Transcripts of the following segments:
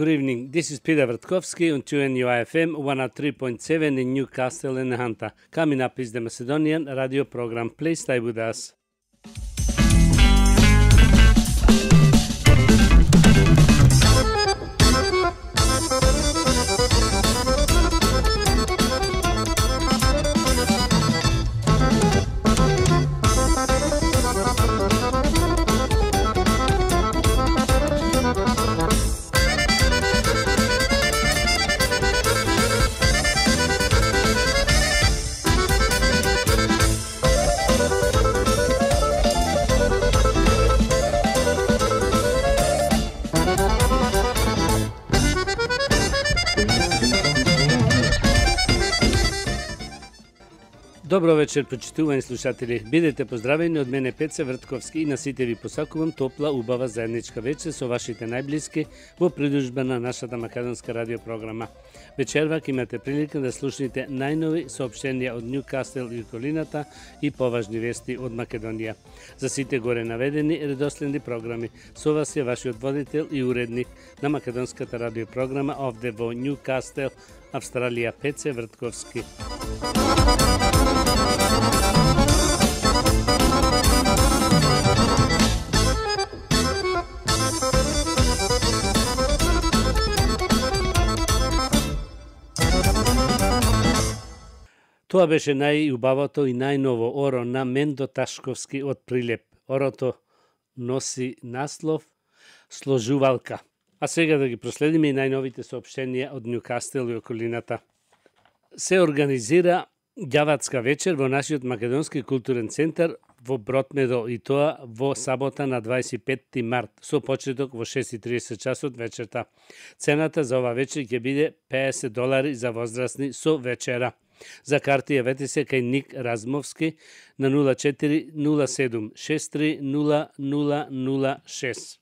Good evening. This is Peter Vertkovski on 2NUIFM 103.7 in Newcastle and Hunter. Coming up is the Macedonian radio program. Please stay with us. Добро вечер, почитувани слушатели. Бидете поздравени од мене Пеце Вртковски и на сите ви посакувам топла, убава заедничка вечер со вашите најблиски во придружба на нашата македонска радиопрограма. Вечервак имате прилика да слушнете најнови соопштенија од Ньюкасел и околината и поважни вести од Македонија. За сите горе наведени редоследни програми, со вас е вашиот водител и уредник на македонската радиопрограма овде во Ньюкасел, Австралија, Пеце Вртковски. Тоа беше најубавото и најново оро на Мендо Ташковски од Прилеп. Орото носи наслов Сложувалка. А сега да ги проследиме и најновите соопштенија од Ньюкасел и околината. Се организира ѓаватска вечер во нашиот македонски културен центар во Бротмедо и тоа во сабота на 25 март со почеток во 6:30 часот вечерта. Цената за ова вечер ќе биде $50 за возрастни со вечера. За карти јавете се кај Ник Размовски на 0407 63 0006.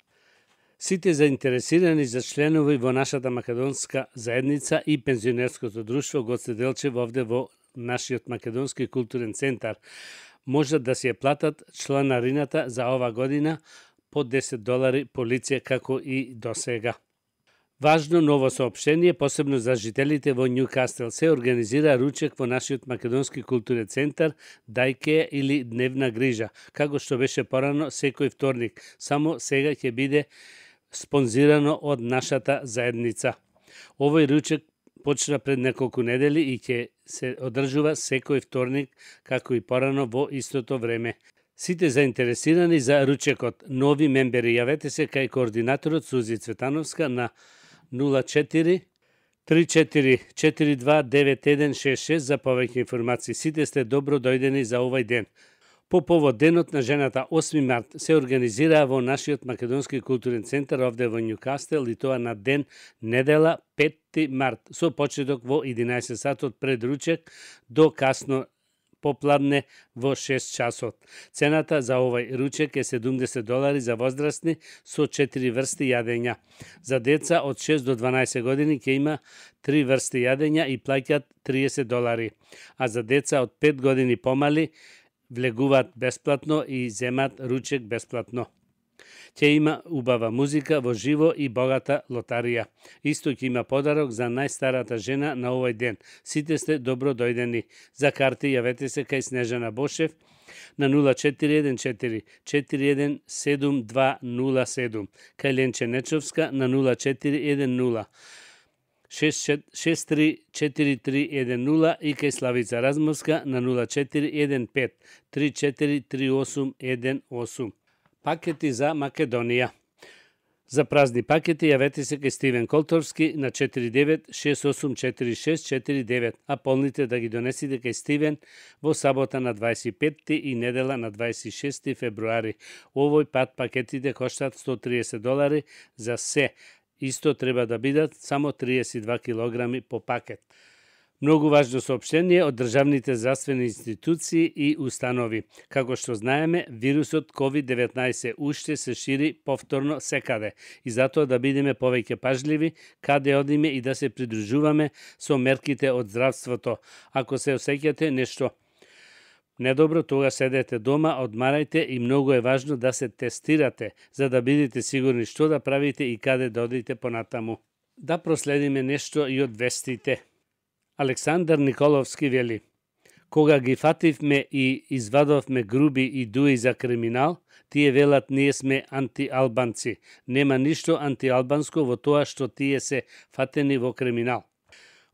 Сите заинтересирани за членови во нашата македонска заедница и пензионерското друштво Гоце Делчев овде во нашиот македонски културен центар можат да си ја платат чланарината за ова година по $10 по лице како и досега. Важно ново соопштение, посебно за жителите во Ньюкасел, се организира ручек во нашиот македонски културен центар Дајке или Дневна грижа, како што беше порано секој вторник. Само сега ќе биде спонзирано од нашата заедница. Овој ручек почна пред неколку недели и ќе се одржува секој вторник, како и порано во истото време. Сите заинтересирани за ручекот, нови мембери, јавете се кај координаторот Сузи Цветановска на 04 34 42 9166 за повеќе информации. Сите сте добро дојдени за овој ден. По повод денот на жената 8 март се организира во нашиот македонски културен центар овде во Ньюкасел и тоа на ден недела 5 март со почеток во 11 сатот пред ручек до касно попладне во 6 часот. Цената за овој ручек е $70 за возрастни со 4 врсти јадења. За деца од 6 до 12 години ќе има 3 врсти јадења и плаќаат $30, а за деца од 5 години помали влегуваат бесплатно и земат ручек бесплатно. Ќе има убава музика во живо и богата лотарија. Исто ќе има подарок за најстарата жена на овој ден. Сите сте добро дојдени. За карти јавете се кај Снежана Бошев на 0414 417207, кај Ленче Нечовска на 0410 634310 и кај Славица Размовска на 0415 343818. Пакети за Македонија. За празни пакети јавете се кај Стивен Колторски на 49684649, а полните да ги донесите кај Стивен во сабота на 25 и недела на 26 февруари. Овој пат пакетите коштат $130 за се. Исто треба да бидат само 32 килограми по пакет. Многу важно соопштение од државните здравствени институции и установи. Како што знаеме, вирусот COVID-19 уште се шири повторно секаде и затоа да бидеме повеќе пажливи каде одиме и да се придружуваме со мерките од здравството. Ако се осеќате нешто недобро, тога седете дома, одмарајте и многу е важно да се тестирате, за да бидете сигурни што да правите и каде да одите понатаму. Да проследиме нешто и од вестите. Александар Николовски вели: кога ги фативме и извадовме груби и дуи за криминал, тие велат ние сме антиалбанци. Нема ништо антиалбанско во тоа што тие се фатени во криминал.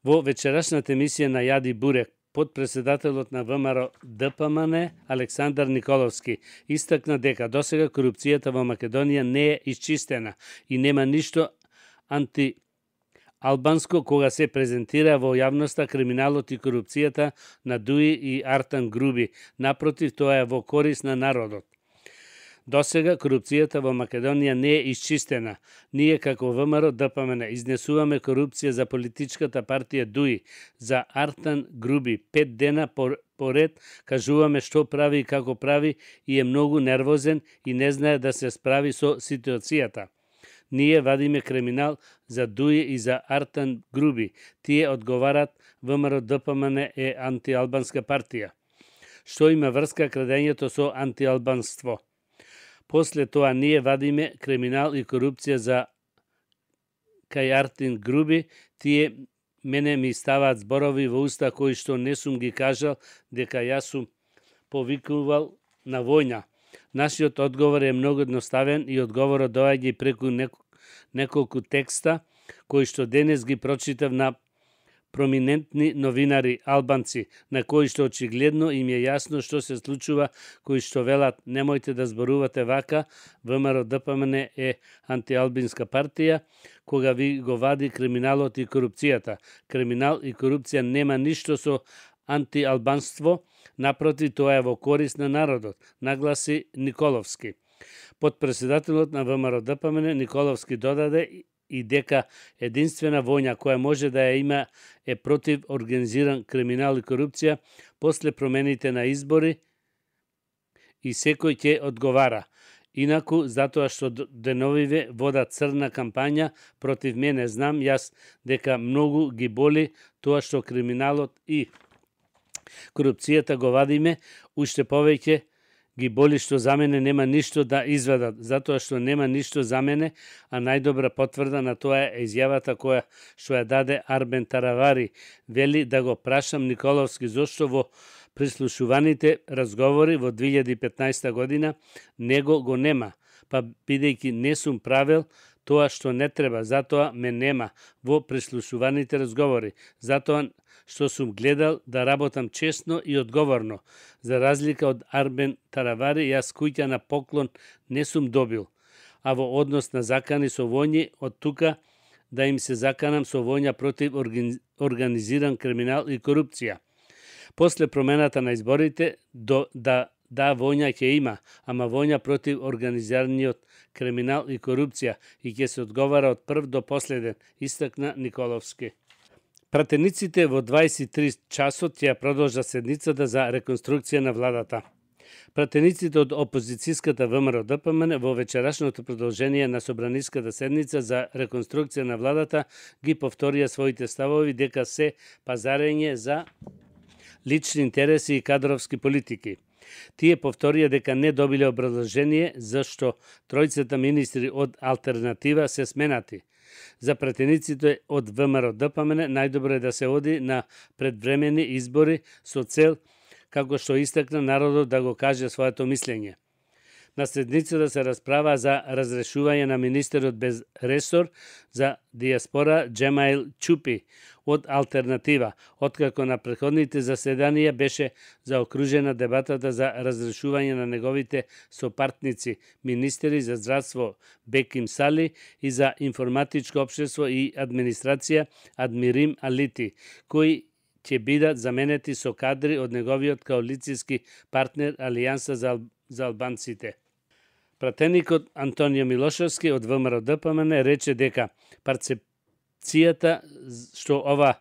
Во вечерашната емисија на Јади Бурек, подпредседателот на ВМРО ДПМН Александар Николовски истакна дека досега корупцијата во Македонија не е исчистена и нема ништо антиалбанско кога се презентира во јавноста криминалот и корупцијата на Дуи и Артан Груби. Напротив, тоа е во корис на народот. Досега корупцијата во Македонија не е исчистена. Ние како ВМРО ДПМН изнесуваме корупција за политичката партија Дуи, за Артан Груби. 5 дена поред кажуваме што прави и како прави и е многу нервозен и не знае да се справи со ситуацијата. Ние вадиме криминал за Дуи и за Артан Груби. Тие одговарат ВМРО ДПМН е антиалбанска партија. Што има врска крадењето со антиалбанство? После тоа ние вадиме криминал и корупција за кај Артан Груби. Тие мене ми ставаат зборови во уста кои што не сум ги кажал дека јас сум повикувал на војна. Нашиот одговор е многу едноставен и одговорот доаѓа преку неколку текста кои што денес ги прочитав на проминентни новинари албанци, на кои што очигледно им е јасно што се случува, кои што велат немојте да зборувате вака, ВМРО ДПМН е антиалбинска партија, кога ви го вади криминалот и корупцијата. Криминал и корупција нема ништо со антиалбанство, напротив, тоа е во корис на народот, нагласи Николовски. Подпредседателот на ВМРО ДПМН Николовски додаде и дека единствена војна која може да ја има е против организиран криминал и корупција после промените на избори и секој ќе одговара. Инаку, затоа што деновиве вода црна кампања против мене, знам јас дека многу ги боли тоа што криминалот и корупцијата го вадиме, уште повеќе ги боли што за мене нема ништо да изведат, затоа што нема ништо за мене, а најдобра потврда на тоа е изјавата која што ја даде Арбен Таравари. Вели да го прашам Николовски зошто во прислушуваните разговори во 2015 година него го нема, па бидејќи не сум правил тоа што не треба, затоа ме нема во прислушуваните разговори, затоа што сум гледал да работам честно и одговорно. За разлика од Арбен Таравари, јас куќа на поклон не сум добил, а во однос на закани со војни, од тука да им се заканам со војна против организиран криминал и корупција. После промената на изборите, да, војна ќе има, ама војна против организираниот криминал и корупција и ќе се одговара од прв до последен, истакна Николовски. Пратениците во 23 часот ќе продолжат седницата за реконструкција на владата. Пратениците од опозицијската ВМРО ДПМН во вечерашното продолжение на собраниската седница за реконструкција на владата ги повторија своите ставови дека се пазарење за лични интереси и кадровски политики. Тие повторија дека не добиле образложение зашто тројцата министри од алтернатива се сменати. За пратениците од ВМРО ДПМН најдобро е да се оди на предвремени избори со цел, како што истакна, народот да го каже своето мислење. На седницата се расправа за разрешување на министерот без ресор за диаспора Джемаил Чупи од алтернатива, откако на претходните заседанија беше заокружена дебатата за разрешување на неговите сопартници, министери за здравство Беким Сали и за информатичко општество и администрација Адмирим Алити, кои ќе бидат заменети со кадри од неговиот коалицијски партнер Алијанса за албанците. Пратеникот Антонио Милошевски од ВМРО ДПМН рече дека перцепцијата што ова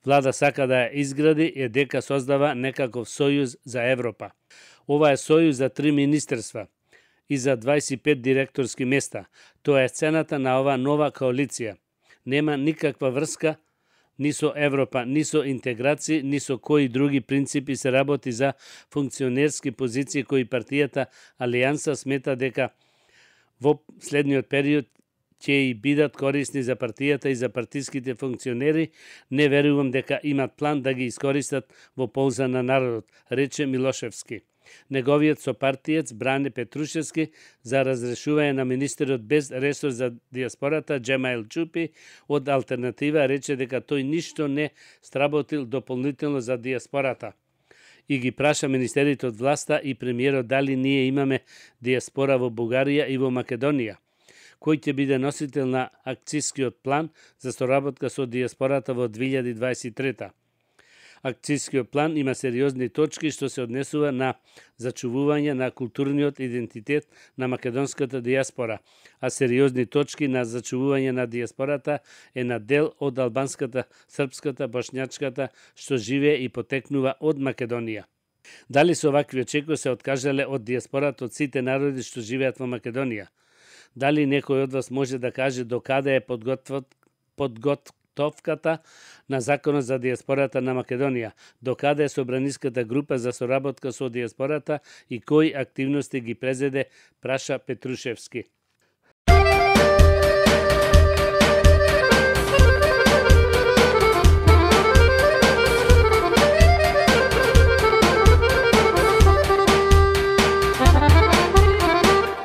влада сака да ја изгради е дека создава некаков сојуз за Европа. Ова е сојуз за 3 министерства и за 25 директорски места. Тоа е цената на ова нова коалиција. Нема никаква врска ни со Европа, ни со интеграција, ни со кои други принципи се работи за функционерски позиции кои партијата Алијанса смета дека во следниот период ќе и бидат корисни за партијата и за партиските функционери, не верувам дека имат план да ги искористат во полза на народот, рече Милошевски. Неговиот сопартиец Бране Петрушевски за разрешување на министерот без ресор за диаспората Джемаил Чупи од Алтернатива рече дека тој ништо не сработил дополнително за диаспората и ги праша министерите од власта и премиерот дали ние имаме диаспора во Бугарија и во Македонија, кој ќе биде носител на акцијскиот план за соработка со диаспората во 2023. Акцијскиот план има сериозни точки што се однесува на зачувување на културниот идентитет на македонската диаспора, а сериозни точки на зачувување на диаспората е на дел од албанската, српската, бошњачката што живее и потекнува од Македонија. Дали со вакви очекувања се откажале од диаспората од сите народи што живеат во Македонија? Дали некој од вас може да каже докаде е подготовката на законот за диаспората на Македонија, докаде е собраниската група за соработка со диаспората и кои активности ги презеде, праша Петрушевски.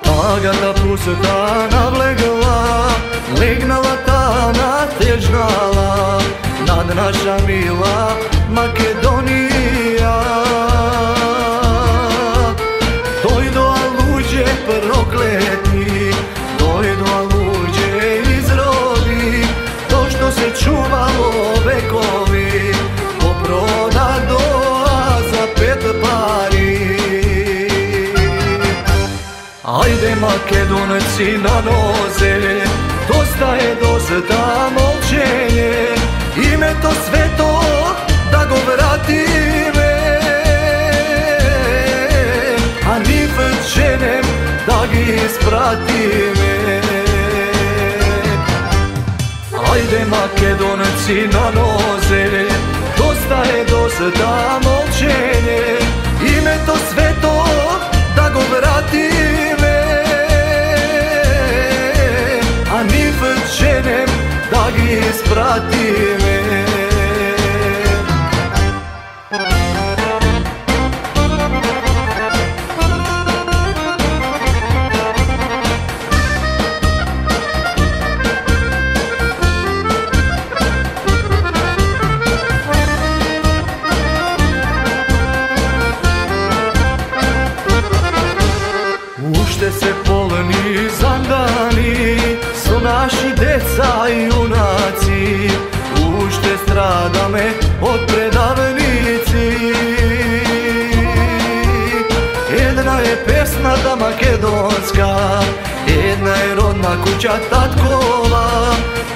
Тагата пусата навлегла, легнала тана тежнала над наша мила Македонија. Дојдоа луѓе проклетни, дојдоа луѓе изроди, то што се чувало векови, попродадоа за 5 пари. Ајде македонци на нозе, доста е доста молчење, името свето да го вратиме, а нив женем да ги испратиме. Ајде македонци на нозе, доста е доста молчење, името свето да го вратиме, а нив женем да ги испратиме. Уште се полни зандани со наши деца и јунаци, уште страдаме од предавници. Една е песната македонска, една е родна куќа таткова,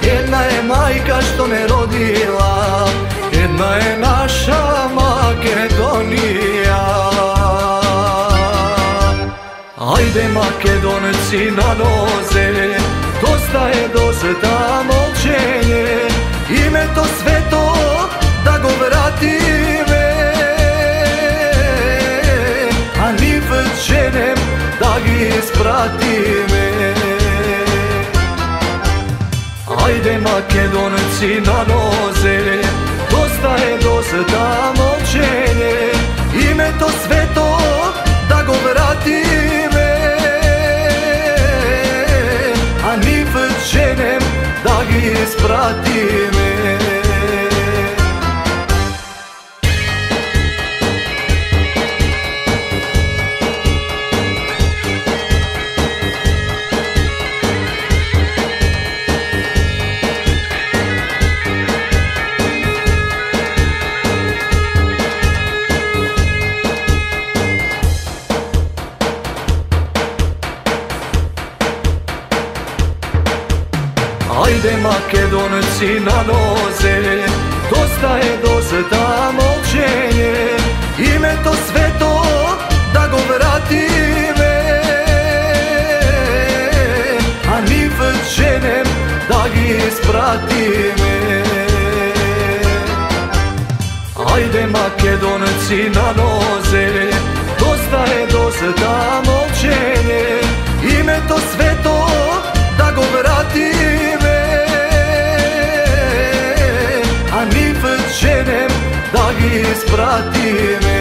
една е мајка што не родила, една е наша Македонија. Ајде македонци на нозе, доста е доста молчење, името свето да го вратиме, а нив женем да ги испратиме. Ајде македонци на нозе, доста е доста молчење, името свето да го вратиме, а нив женем да ги испратиме. Ајде македонци на нозе, доста е доста молчење, името свето да го вратиме, а нив женем да ги испратиме. Ајде македонци на нозе, доста е доста молчење, името свето да го вратиме, da gi isprati me.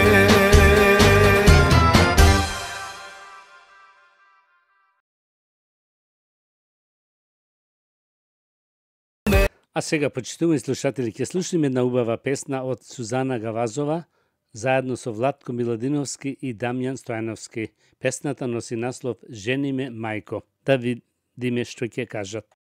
А сега, почитувани слушатели, ќе слушнеме една убава песна од Сузана Гавазова, заедно со Владко Миладиновски и Дамјан Стојановски. Песната носи наслов "Жени ме, мајко". Да видиме што ќе кажат.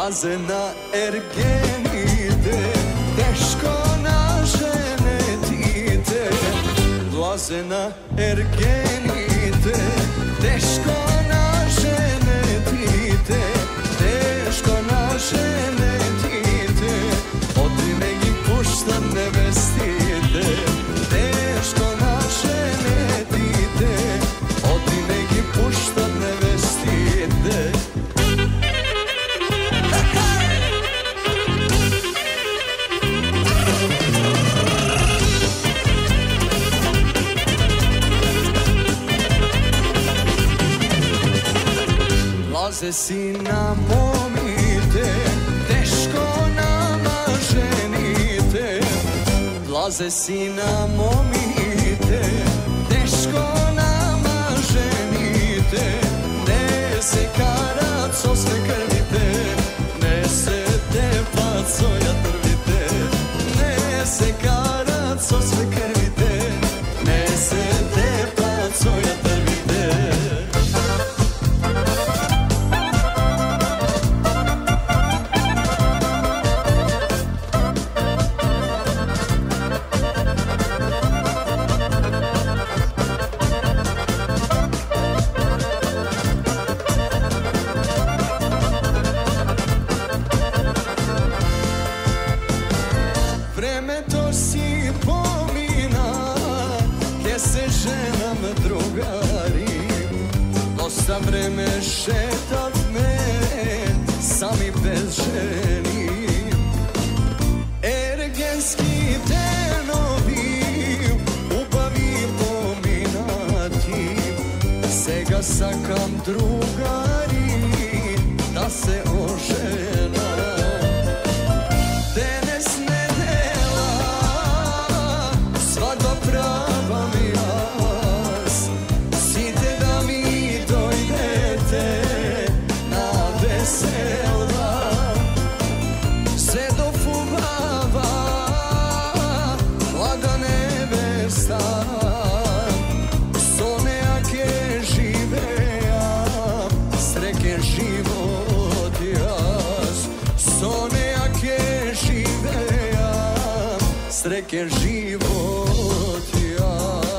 Влазе на ергените, тешко на женетите. Влазе на ергените, тешко на женетите, тешко на женетите. Оти не ги пушта невестите, тешко на женетите. Оти не ги пушта невестите. Влазе си на момите, тешко на жените. Влазе си на момите, тешко на жените. Не се карат со свекрвите, не се тепат со јатрвите. Не се карат со свекрвите, не се тепат со јатрвите. Времето си помина, ке се женаме другари. Доста време шетавме сами без жени. Ергенски денови sakam drugari da se ožena. Denes nedela, svadba prava mi jas, site da mi dojdete na vesela. Se do fugava, mlada nevesta, srećen život jas.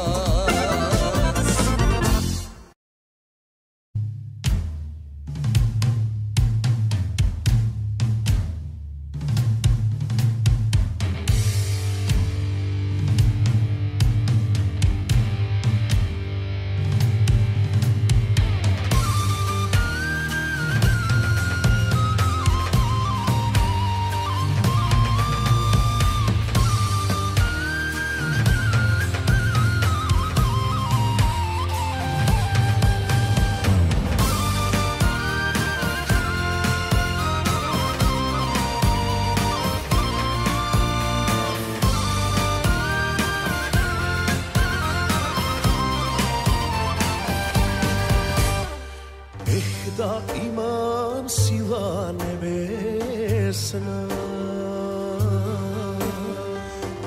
Da imam sila nebesna,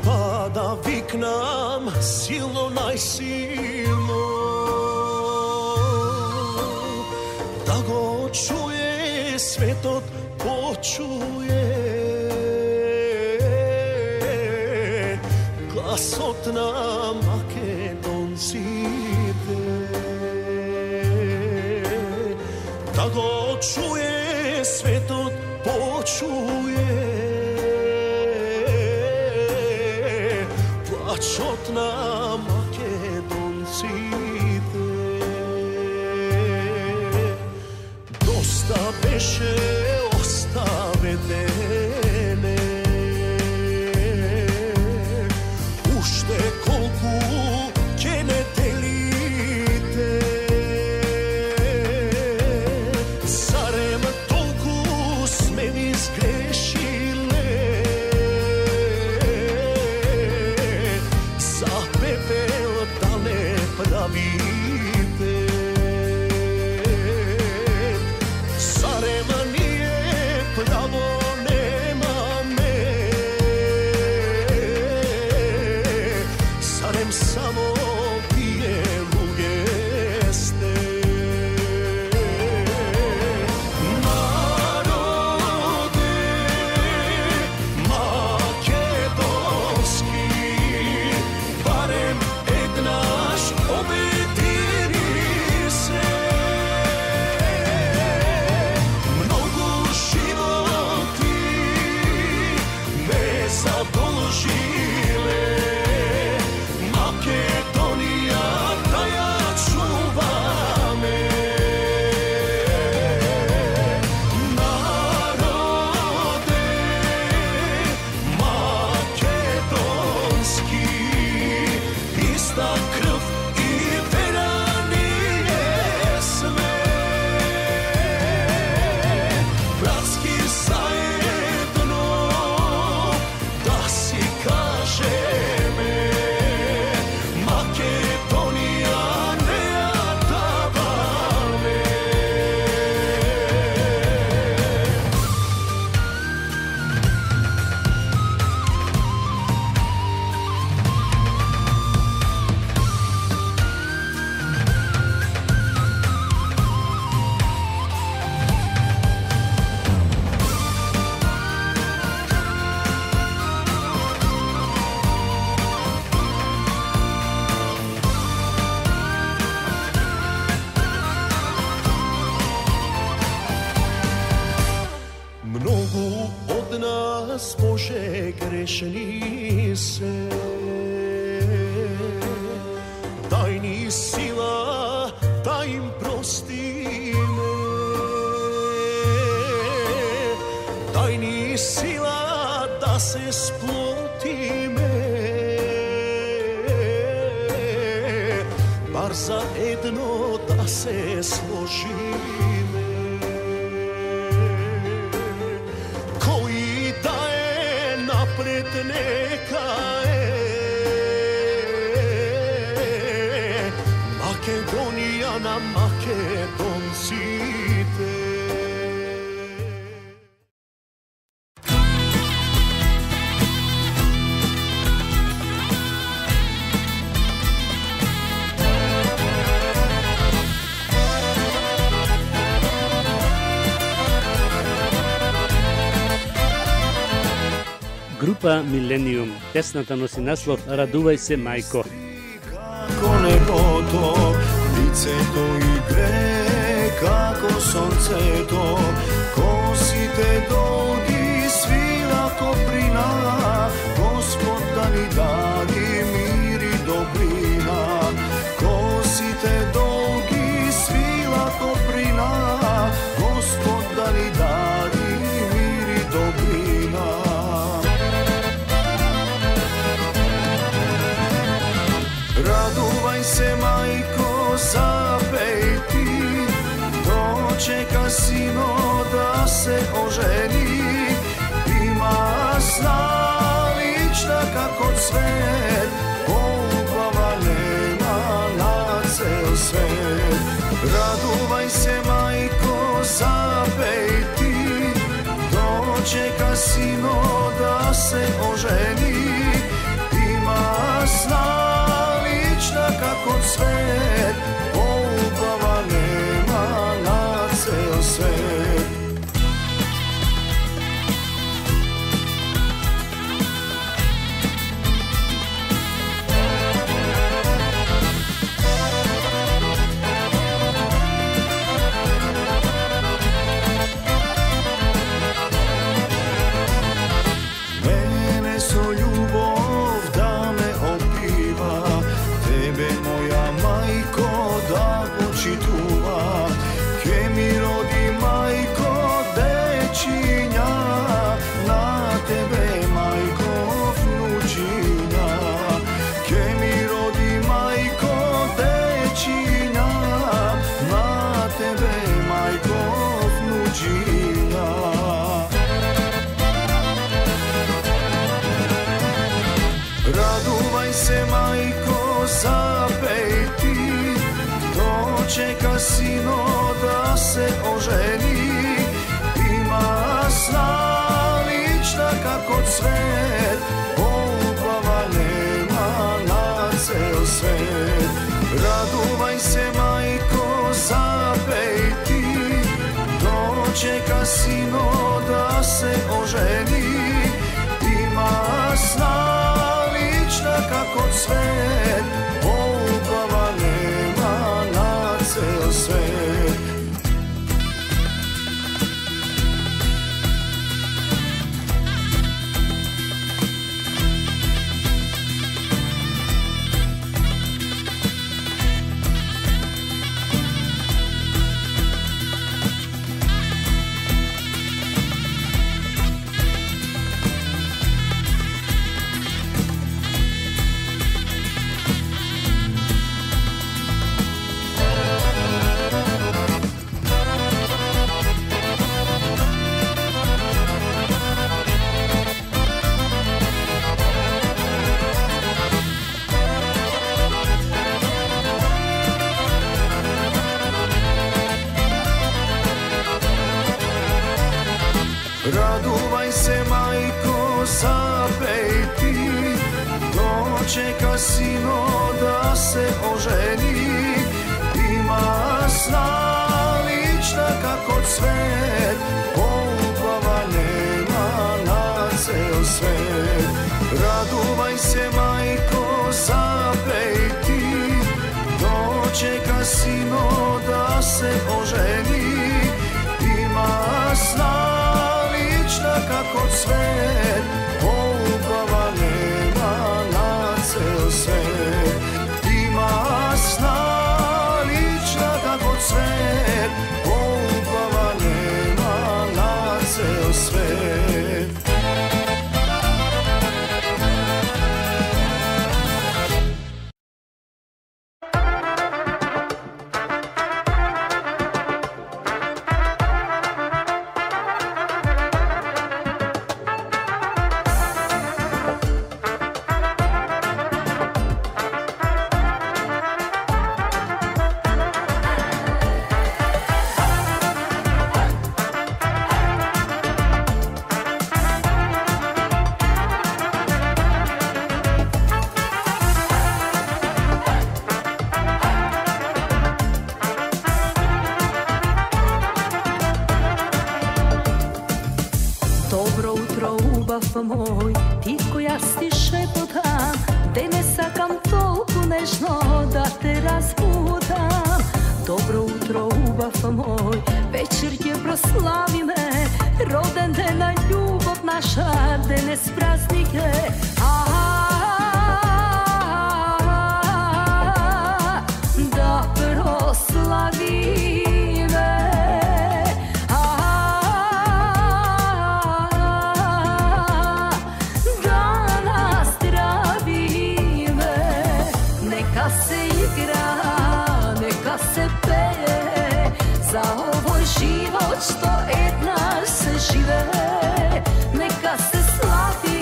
pa da viknam silno najsilno, da go čuje svetot počuje, glasot na Makedoncite. Da go čuje svetot počuje, plačot na Makedoncite. Dosta beše ostavedene, ušte kolku ќе ne delite. Bože, grešni se, daj ni sila da im prosti me, daj ni sila da se sploti me, bar za jedno da se složime. Koji da je napred neka je Makedonija na Makedoncite. Група Милениум, песната носи наслов Радувај се мајко. Како небото, лицето игре, како сонцето, косите долги, свила коприна, Господ да ни даде мир и добрина. Косите долги, свила коприна, Господ да ни даде мир и добрина. Радувај се, мајко, запеј ти, дочека сино да се ожени. Има сналична како цвет, полубава нема на цел свет. Радувај се, мајко, запеј ти, дочека сино да се ожени. Има сналична како цвет, полубава нема на цел свет. Мене со љубов да ме опива, тебе моја мајко да почитува. Ке ми роди мајко дечиња, на тебе мајко внучиња. Ке ми роди мајко дечиња, на тебе мајко внучиња. Радувај се, мајко, запеј ти, дочека сино да се ожени. Има сналична како цвет, полубава нема на цел свет. Радувај се, мајко, запеј ти, дочека сино да се ожени. Има сналична како цвет, полубава нема на цел свет. Радувај се, мајко, запеј ти, дочека сино да се ожени. Има сналична како цвет, полубава нема на цел свет. Радувај се, мајко, запеј ти, дочека сино да се ожени. Има сналична како цвет, полубава нема на цел свет. Има сналична како цвет, полубава нема на цел свет. славиме, роден ден на љубов наша, денес празник е. Да прославиме, да наздравиме, нека се игра, нека се пее, за овој живот што еднаш се живее, нека се слави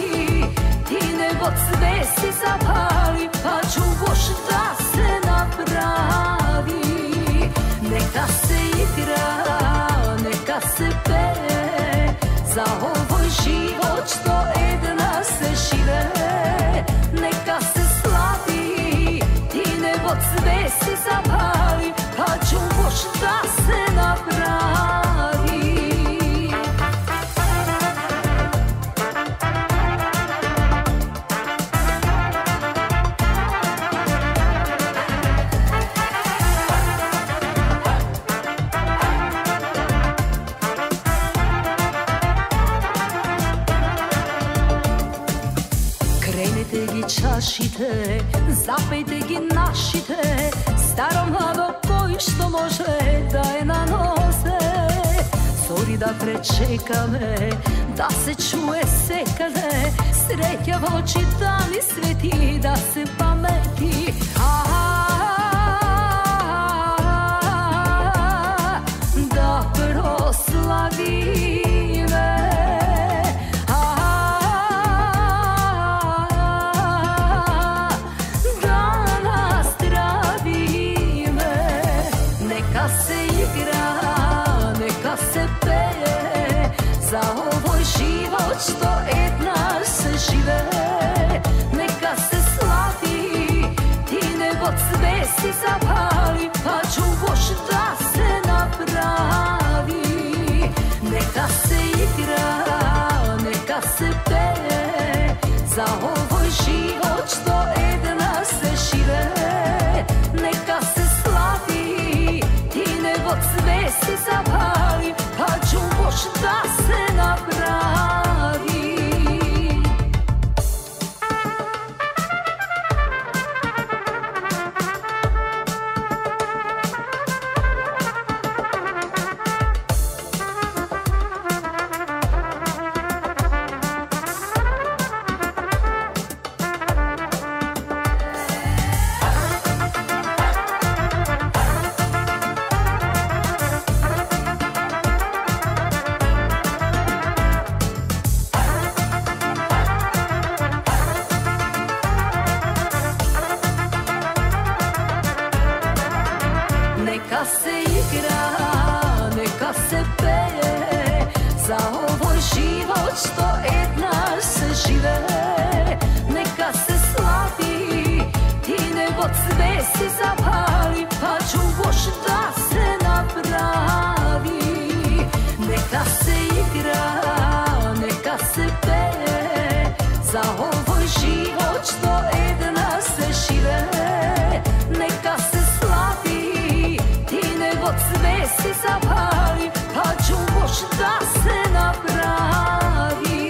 и небо звезди запали, па чуваш да се направи. Нека се игра, нека се пее, за овој живот што еднаш се живее, нека се слави и небо звезди запали, па чуваш да се направи. Кренете ги чашите, запејте ги нашите, старо младо кој што може да е на нозе. Зори да пречекаме, да се чуе секаде, среќа во очи да ни свети, да се памети. Да прославиме, да наздравиме, нека се игра, нека се пее, за овој живот што еднаш се живее, нека се слави и небо звезди запали, па чуваш да се направи. Нека се игра, нека се пее, за овој живот што еднаш се живее, нека се слави и небо звезди запали, па чуваш да се направи. Нека се игра, нека се пее, за овој живот што еднаш се живее, нека се слави и небо звезди запали, па чуваш да се направи. Нека се игра, нека се пее, за овој живот што еднаш се живее, нека се слави и небо звезди запали, па чуваш да се направи.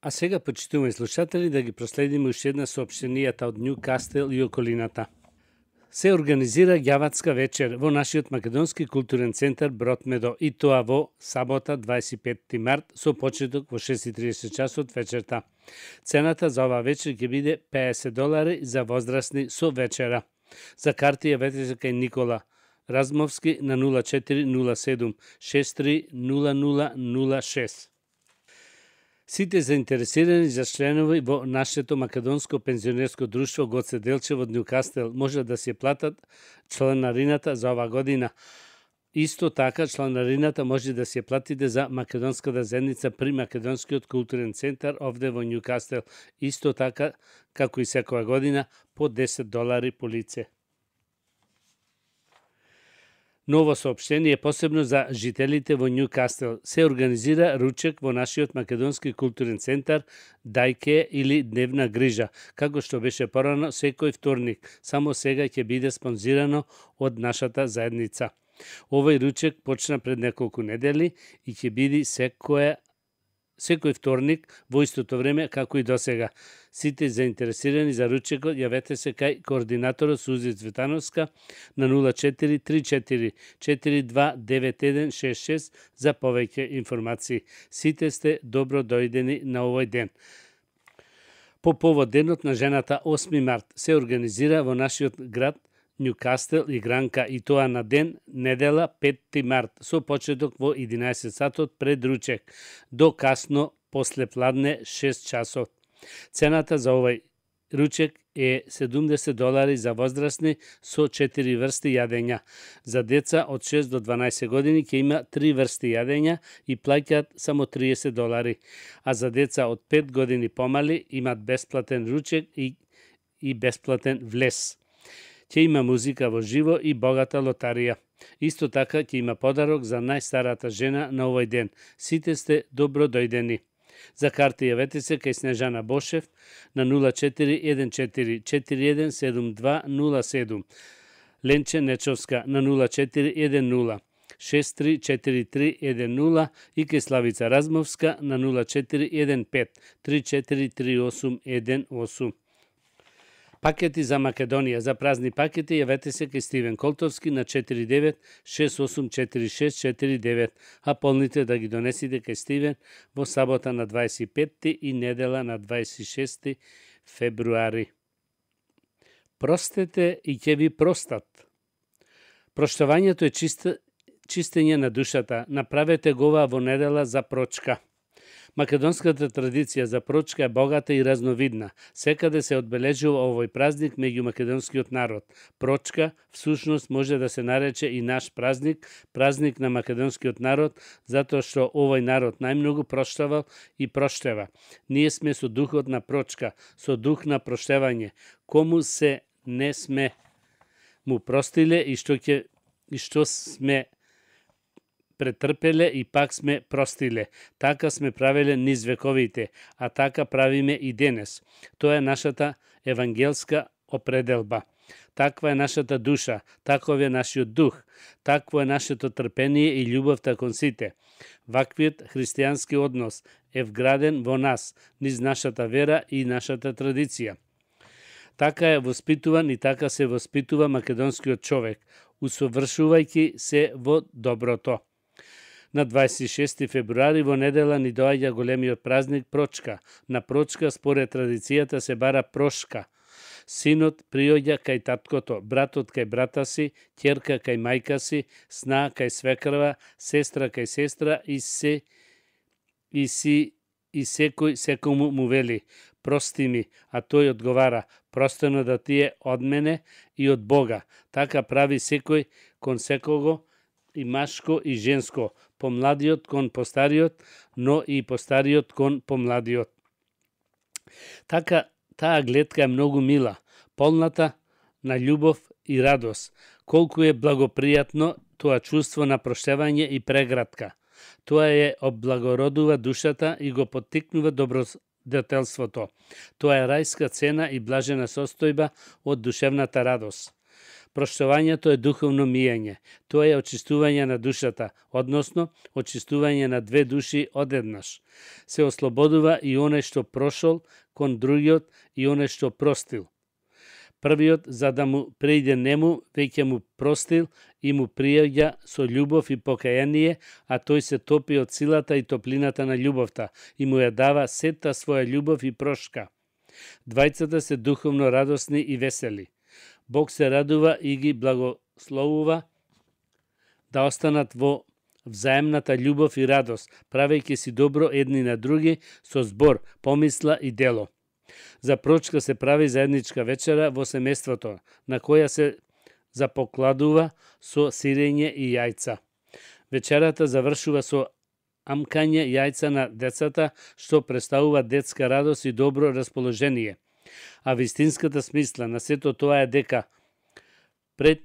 А сега, почитуваме слушатели, да ги проследиме уште една соопштенијата од Њукастел и околината. Се организира ѓаватска вечер во нашиот македонски културен центар Бротмедо и тоа во сабота 25 март со почеток во 6:30 часот вечерта. Цената за оваа вечер ќе биде $50 за возрастни со вечера. За карти јавете се кај Никола Размовски на 0407 63 0006. Сите заинтересирани за членови во нашето македонско пензионерско друштво Гоце Делчев од Њукастел може да се платат чланарината за оваа година. Исто така, чланарината може да се платите за македонската заедница при Македонскиот културен центар овде во Њукастел. Исто така, како и секоја година, по $10 по лице. Ново соопштение посебно за жителите во Њукастел. Се организира ручек во нашиот македонски културен центар Дајке или Дневна грижа, како што беше порано секој вторник. Само сега ќе биде спонзирано од нашата заедница. Овој ручек почна пред неколку недели и ќе биде секој вторник во истото време како и досега. Сите заинтересирани за ручекот јавете се кај координаторот Сузи Цветановска на 0434 429166 за повеќе информации. Сите сте добро дојдени на овој ден. По повод денот на жената 8 март се организира во нашиот град Њукастел игранка и тоа на ден недела 5 март со почеток во 11 сатот пред ручек до касно после пладне 6 часот. Цената за овој ручек е $70 за возрастни со 4 врсти јадења. За деца од 6 до 12 години ќе има 3 врсти јадења и плаќаат само $30, а за деца од 5 години помали имат бесплатен ручек и бесплатен влез. Ќе има музика во живо и богата лотарија. Исто така ќе има подарок за најстарата жена на овој ден. Сите сте добро дојдени. За карти јавете се кај Снежана Бошев на 0414 417207, Ленче Нечовска на 0410 634310 и кај Славица Размовска на 0415 343818. Пакети за Македонија. За празни пакети јавете се кај Стивен Колтовски на 49 684649, а полните да ги донесите кај Стивен во сабота на 25 и недела на 26 февруари. Простете и ќе ви простат. Проштавањето е чистење на душата. Направете го во недела за прочка. Македонската традиција за прочка е богата и разновидна. Секаде се одбележува овој празник меѓу македонскиот народ. Прочка всушност може да се нарече и наш празник, празник на македонскиот народ, затоа што овој народ најмногу проштавал и проштева. Ние сме со духот на прочка, со дух на проштевање. Кому се не сме му простиле и што сме претрпеле и пак сме простиле. Така сме правеле низ вековите, а така правиме и денес. Тоа е нашата евангелска определба. Таква е нашата душа, таков е нашиот дух, такво е нашето трпение и љубовта кон сите. Ваквиот христијански однос е вграден во нас, низ нашата вера и нашата традиција. Така е воспитуван и така се воспитува македонскиот човек, усовршувајќи се во доброто. На 26 февруари во недела ни доаѓа големиот празник Прочка. На Прочка според традицијата се бара прошка. Синот приоѓа кај таткото, братот кај брата си, ќерка кај мајка си, сна кај свекрва, сестра кај сестра и секој секому му вели: прости ми, а тој одговара: простено да ти е од мене и од Бога. Така прави секој кон секого, и машко и женско, помладиот кон постариот, но и постариот кон помладиот. Така, таа гледка е многу мила, полната на љубов и радост. Колку е благопријатно тоа чувство на проштевање и преградка. Тоа е облагородува душата и го поттикнува добродетелството. Тоа е рајска цена и блажена состојба од душевната радост. Проштувањето е духовно мијање. Тоа е очистување на душата, односно очистување на две души одеднаш. Се ослободува и оној што прошол кон другиот и оној што простил. Првиот, за да му преиде нему, веќе му простил и му пријаѓа со љубов и покаяние, а тој се топи од силата и топлината на љубовта и му ја дава сета своја љубов и прошка. Двајцата се духовно радосни и весели. Бог се радува и ги благословува да останат во взаемната љубов и радост, правејќи си добро едни на други со збор, помисла и дело. За прочка се прави заедничка вечера во семејството, на која се запокладува со сирење и јајца. Вечерата завршува со амкање јајца на децата, што представува детска радост и добро расположение. А вистинската смисла на сето тоа е дека пред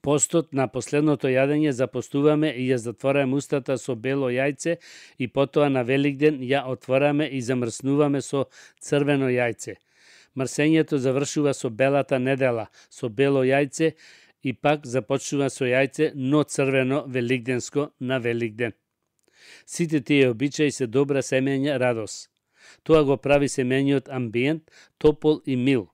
постот на последното јадење запостуваме и ја затвораме устата со бело јајце и потоа на Великден ја отвораме и замрснуваме со црвено јајце. Мрсењето завршува со белата недела, со бело јајце и пак започнува со јајце, но црвено великденско на Великден. Сите тие обичаи се добра семејна радост. Тоа го прави семејниот амбиент топол и мил.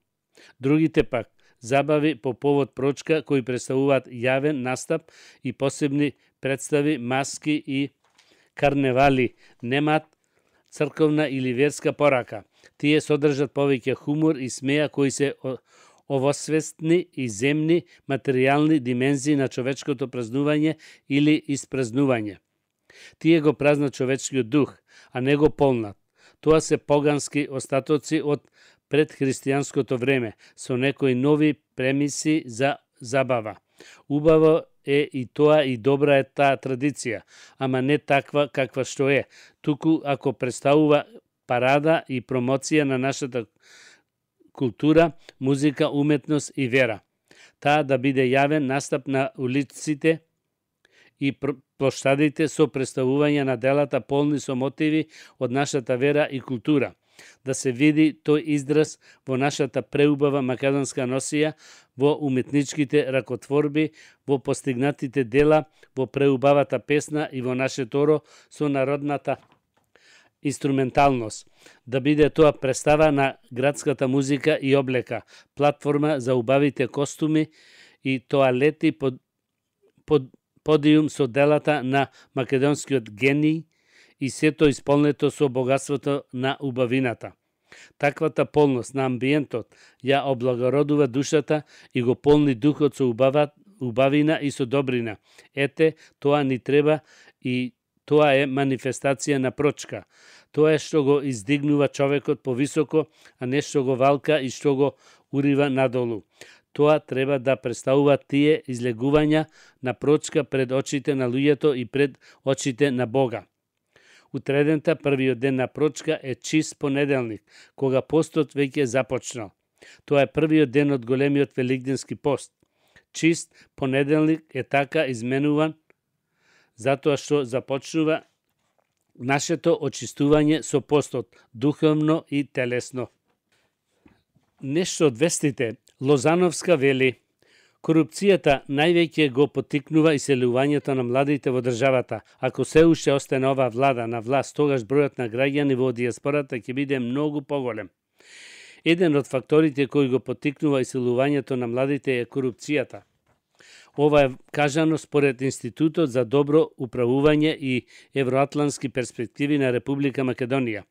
Другите пак забави по повод прочка кои представуваат јавен настап и посебни представи, маски и карневали, немаат црковна или верска порака. Тие содржат повеќе хумор и смеја кои се овосвестни и земни материјални димензии на човечкото празнување или испразнување. Тие го празнат човечкиот дух, а не го полнат. Тоа се погански остатоци од предхристијанското време, со некои нови премиси за забава. Убаво е и тоа и добра е таа традиција, ама не таква каква што е, туку ако представува парада и промоција на нашата култура, музика, уметност и вера. Таа да биде јавен настап на улиците и плоштадите со представување на делата полни со мотиви од нашата вера и култура. Да се види тој израз во нашата преубава македонска носија, во уметничките ракотворби, во постигнатите дела, во преубавата песна и во нашето оро со народната инструменталност. Да биде тоа представа на градската музика и облека, платформа за убавите костуми и тоалети под подиум со делата на македонскиот гений и сето исполнето со богатството на убавината. Таквата полност на амбиентот ја облагородува душата и го полни духот со убавина и со добрина. Ете, тоа ни треба и тоа е манифестација на прочка. Тоа е што го издигнува човекот повисоко, а не што го валка и што го урива надолу. Тоа треба да представува тие излегувања на прочка пред очите на луѓето и пред очите на Бога. Утредента, првиот ден на прочка е чист понеделник, кога постот веќе започнал. Тоа е првиот ден од големиот великденски пост. Чист понеделник е така изменуван затоа што започнува нашето очистување со постот, духовно и телесно. Нешто од вестите. Лозановска вели: корупцијата највеќе го поттикнува иселувањето на младите во државата. Ако се уште остане оваа влада на власт, тогаш бројот на граѓани во дијаспората ќе биде многу поголем. Еден од факторите кои го поттикнува иселувањето на младите е корупцијата. Ова е кажано според Институтот за добро управување и евроатлантски перспективи на Република Македонија.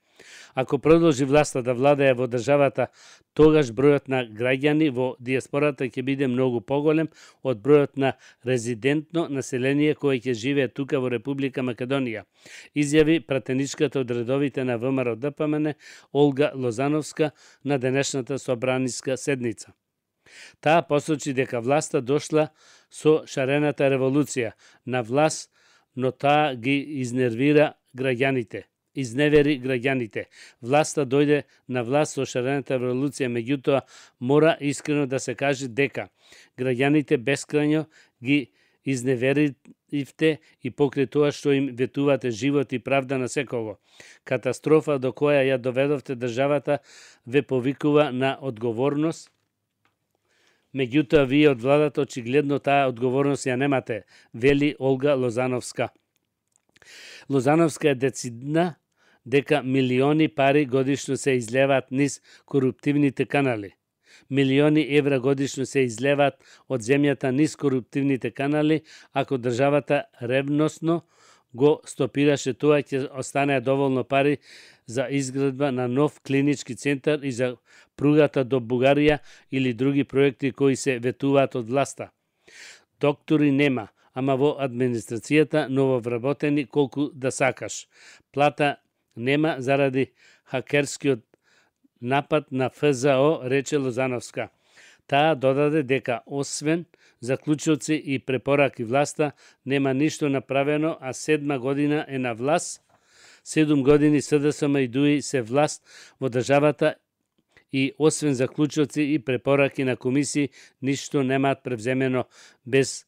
Ако продолжи власта да владее во државата, тогаш бројот на граѓани во дијаспората ќе биде многу поголем од бројот на резидентно население кое ќе живее тука во Република Македонија, изјави пратеничката од редовите на ВМРО ДПМН Олга Лозановска на денешната собраниска седница. Таа посочи дека власта дошла со шарената револуција на власт, но таа ги изневери граѓаните. Власта дојде на власт со шарената револуција, меѓутоа мора искрено да се каже дека граѓаните бескрајно ги изневеривте и покрај тоа што им ветувате живот и правда на секого. Катастрофа до која ја доведовте државата ве повикува на одговорност, Меѓутоа, вие од владата очигледно таа одговорност ја немате, вели Олга Лозановска. Лозановска е децидна дека милиони пари годишно се излеваат низ коруптивните канали. Милиони евра годишно се излеваат од земјата низ коруптивните канали, ако државата ревносно го стопираше тоа, ќе останеа доволно пари за изградба на нов клинички центар и за пругата до Бугарија или други проекти кои се ветуваат од власта. Доктори нема, ама во администрацијата нововработени колку да сакаш. Плата нема заради хакерскиот напад на ФЗО, рече Лозановска. Таа додаде дека освен заклучоци и препораки власта нема ништо направено, а 7 година е на власт, 7 години СДСМ и ДУИ се власт во државата и освен заклучоци и препораки на комисии, ништо немаат превземено без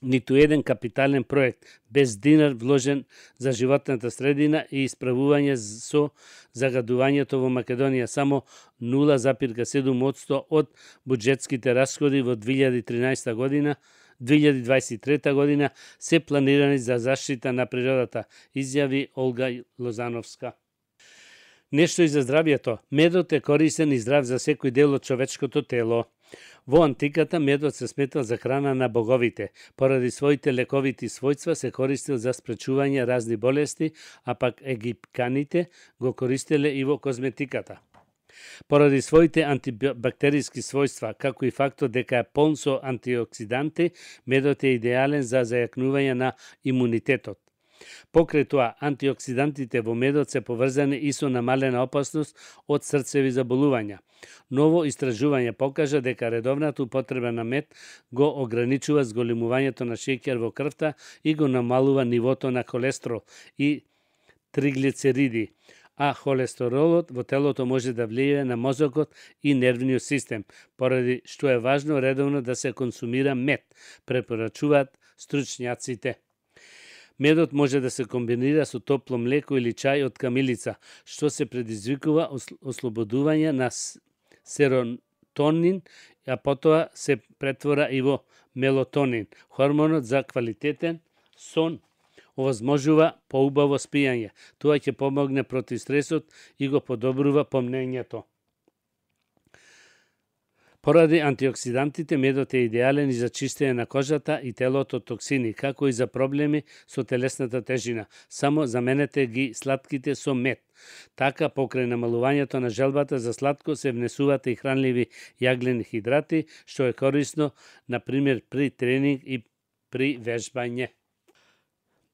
ниту еден капитален проект, без динар вложен за животната средина и исправување со загадувањето во Македонија. Само 0,7% од буџетските расходи во 2013 година 2023 година се планирани за заштита на природата, изјави Олга Лозановска. Нешто и за здравјето. Медот е корисен и здрав за секој дел од човечкото тело. Во антиката медот се сметал за храна на боговите. Поради своите лековити својства се користил за спречување разни болести, а пак египканите го користеле и во козметиката. Поради своите антибактериски својства, како и фактот дека е полн со антиоксиданти, медот е идеален за зајакнување на имунитетот. Покрај тоа, антиоксидантите во медот се поврзани и со намалена опасност од срцеви заболувања. Ново истражување покажа дека редовната употреба на мед го ограничува зголемувањето на шеќер во крвта и го намалува нивото на холестерол и триглицериди, а холестеролот во телото може да влијае на мозокот и нервниот систем, поради што е важно редовно да се консумира мед, препорачуваат стручњаците. Медот може да се комбинира со топло млеко или чај од камилица, што се предизвикува ослободување на серотонин, а потоа се претвора и во мелатонин, хормонот за квалитетен сон. Овозможува поубаво спијање. Тоа ќе помогне против стресот и го подобрува помнењето. Поради антиоксидантите, медот е идеален и за чистење на кожата и телото од токсини, како и за проблеми со телесната тежина. Само заменете ги слатките со мед. Така, покрај намалувањето на желбата за сладко, се внесуваат и хранливи јаглени хидрати, што е корисно, например, при тренинг и при вежбање.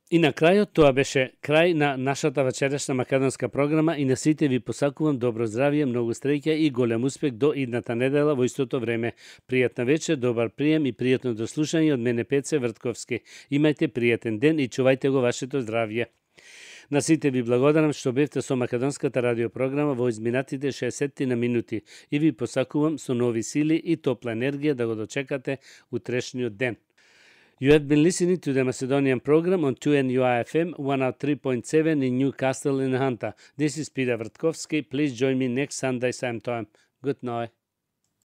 И на крајот, тоа беше крај на нашата вечерашна македонска програма и на сите ви посакувам добро здравје, многу среќа и голем успех до идната недела во истото време. Пријатна вечер, добар прием и пријатно дослушање од мене Пеце Вртковски. Имајте пријатен ден и чувајте го вашето здравје. На сите ви благодарам што бевте со македонската радиопрограма во изминатите 60 на минути и ви посакувам со нови сили и топла енергија да го дочекате утрешниот ден. You have been listening to the Macedonian program on 2NUI-FM 103.7 in Newcastle in Hunter. This is Peter Vrtkovski. Please join me next Sunday same time. Good night.